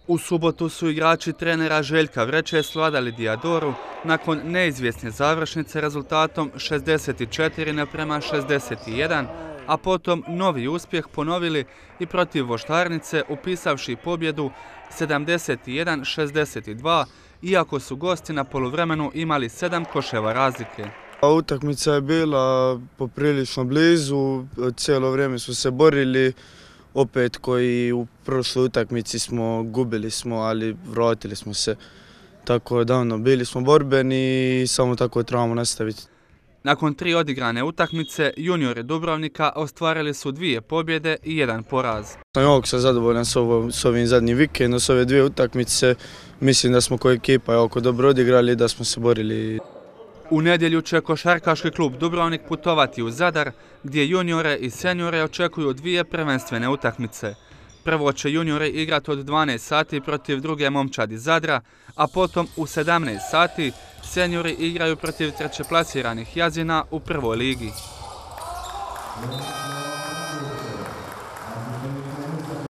U subotu su igrači trenera Željka Vreće svladali Diadoru nakon neizvjesne završnice rezultatom 64:61, a potom novi uspjeh ponovili i protiv Voštarnice upisavši pobjedu 71:62, iako su gosti na poluvremenu imali 7 koševa razlike. Utakmica je bila poprilično blizu, cijelo vrijeme smo se borili, opet koji u prošloj utakmici gubili smo, ali vratili smo se. Tako da bili smo borbeni i samo tako trebamo nastaviti. Nakon 3 odigrane utakmice, juniori Dubrovnika ostvarili su 2 pobjede i 1 poraz. Jako sam zadovoljan s ovim zadnjim vikendom, s ove 2 utakmice. Mislim da smo kao ekipa jako dobro odigrali i da smo se borili. U nedjelju će Košarkaški klub Dubrovnik putovati u Zadar, gdje juniore i seniore očekuju 2 prvenstvene utakmice. Prvo će juniori igrati od 12 sati protiv druge momčadi Zadra, a potom u 17 sati seniori igraju protiv trećeplasiranih Jazina u prvoj ligi.